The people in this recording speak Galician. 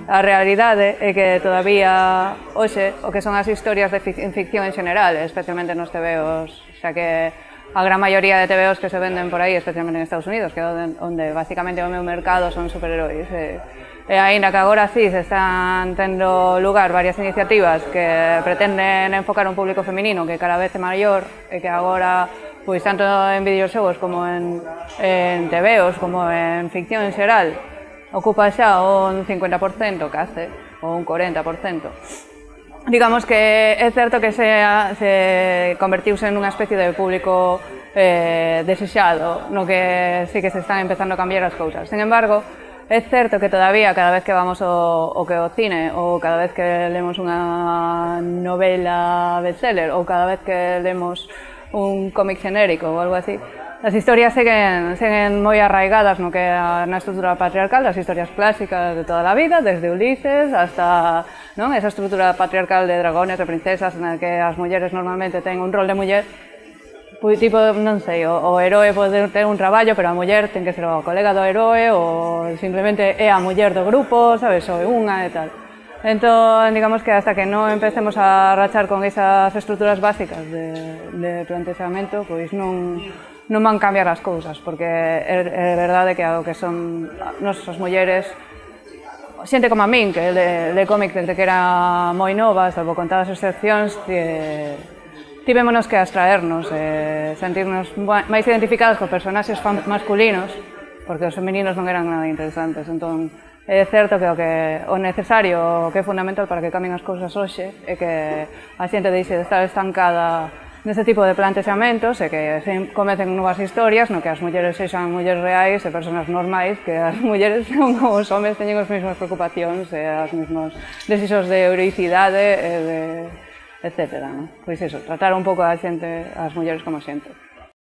A realidade é que todavía hoxe o que son as historias de ficción en xeral, especialmente nos tebeos, xa que a gran maioría de tebeos que se venden por aí, especialmente en Estados Unidos, que é onde basicamente o meu mercado son superheróis. E aínda que agora sí se están tendo lugar varias iniciativas que pretenden enfocar un público feminino que cada vez é maior e que agora, pois tanto en videoxogos como en tebeos, como en ficción en xeral, ocupa xa un 50% case, ou un 40%. Digamos que é certo que se convertiuse en unha especie de público desexado, no que sí que se están empezando a cambiar as cousas. Sin embargo, é certo que todavía, cada vez que vamos ao cine, ou cada vez que lemos unha novela bestseller, ou cada vez que lemos un cómic genérico ou algo así, as historias seguen moi arraigadas no que na estrutura patriarcal, das historias clásicas de toda a vida, desde Ulises hasta esa estrutura patriarcal de dragones, de princesas, na que as mulleres normalmente ten un rol de muller, tipo, non sei, o heroe pode ter un traballo, pero a muller ten que ser o colega do heroe, ou simplemente é a muller do grupo, sabes, ou é unha e tal. Entón, digamos que hasta que non empecemos a rachar con esas estruturas básicas de plantexamento, pois non van cambiar as cousas, porque é verdade que o que son nosas mulleres, xente como a min, que le cómic desde que era moi nova, salvo contadas excepcións, tivémonos que abstraernos, sentirnos máis identificadas con personaxes masculinos, porque os femininos non eran nada interesantes. Entón, é certo que o necesario, o que é fundamental para que cambien as cousas hoxe, é que a xente deixe de estar estancada neste tipo de plantexamentos e que se comecen novas historias no que as mulleres sexan mulleres reais e personas normais, que as mulleres son como os homens, teñen as mesmas preocupacións e as mesmas desexos de heroicidade, etc. Pois iso, tratar un pouco a xente, as mulleres como xente.